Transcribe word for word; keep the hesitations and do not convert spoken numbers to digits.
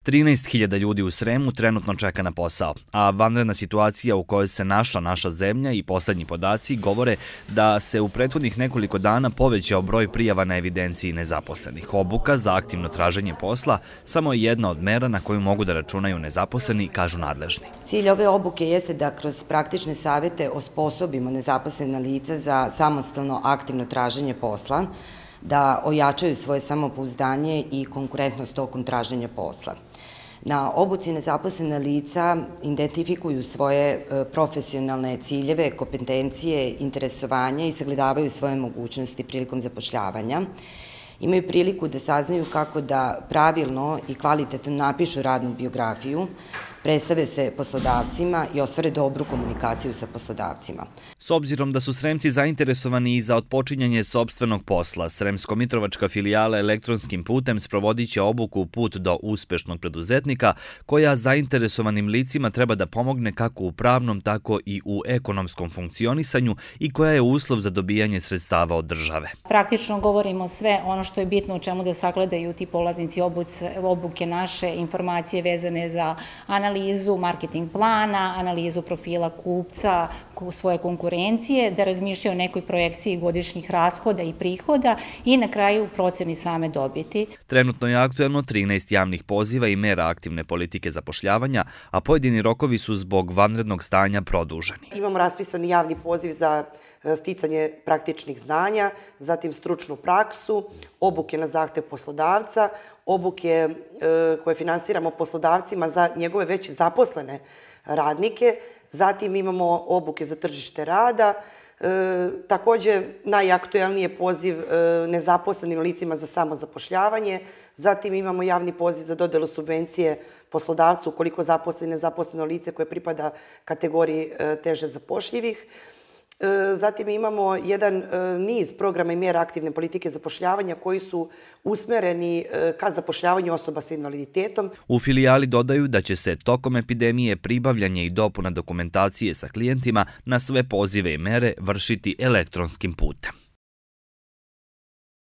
trinaest hiljada ljudi u Sremu trenutno čeka na posao, a vanredna situacija u kojoj se našla naša zemlja i poslednji podaci govore da se u prethodnih nekoliko dana povećao broj prijava na evidenciji nezaposlenih. Obuka za aktivno traženje posla samo je jedna od mera na koju mogu da računaju nezaposleni, kažu nadležni. Cilj ove obuke jeste da kroz praktične savete osposobimo nezaposlena lica za samostalno aktivno traženje posla, da ojačaju svoje samopouzdanje i konkurentnost tokom traženja posla. Na obuci nezaposlena lica identifikuju svoje profesionalne ciljeve, kompetencije, interesovanja i sagledavaju svoje mogućnosti prilikom zapošljavanja. Imaju priliku da saznaju kako da pravilno i kvalitetno napišu radnu biografiju, predstave se poslodavcima i ostvare dobru komunikaciju sa poslodavcima. S obzirom da su Sremci zainteresovani i za otpočinjanje sopstvenog posla, Sremsko-Mitrovačka filijala elektronskim putem sprovodit će obuku Put do uspešnog preduzetnika, koja zainteresovanim licima treba da pomogne kako u pravnom, tako i u ekonomskom funkcionisanju i koja je uslov za dobijanje sredstava od države. Praktično govorimo sve ono što je bitno u čemu da sagledaju ti polaznici obuke naše informacije vezane za analizu, analizu marketing plana, analizu profila kupca, svoje konkurencije, da razmišljaju o nekoj projekciji godišnjih rashoda i prihoda i na kraju proceni same dobiti. Trenutno je aktuelno trinaest javnih poziva i mera aktivne politike zapošljavanja, a pojedini rokovi su zbog vanrednog stanja produženi. Imamo raspisani javni poziv za sticanje praktičnih znanja, zatim stručnu praksu, obuke na zahtev poslodavca, obuke koje finansiramo poslodavcima za njegove već zaposlene radnike, zatim imamo obuke za tržište rada, također najaktuelniji je poziv nezaposlenim licima za samozapošljavanje, zatim imamo javni poziv za dodelu subvencije poslodavcu ukoliko zaposli nezaposleno lice koje pripada kategoriji teže zapošljivih. Zatim imamo jedan niz programa i mjera aktivne politike zapošljavanja koji su usmereni ka zapošljavanju osoba sa invaliditetom. U filijali dodaju da će se tokom epidemije pribavljanje i dopuna dokumentacije sa klijentima na sve pozive i mere vršiti elektronskim putem.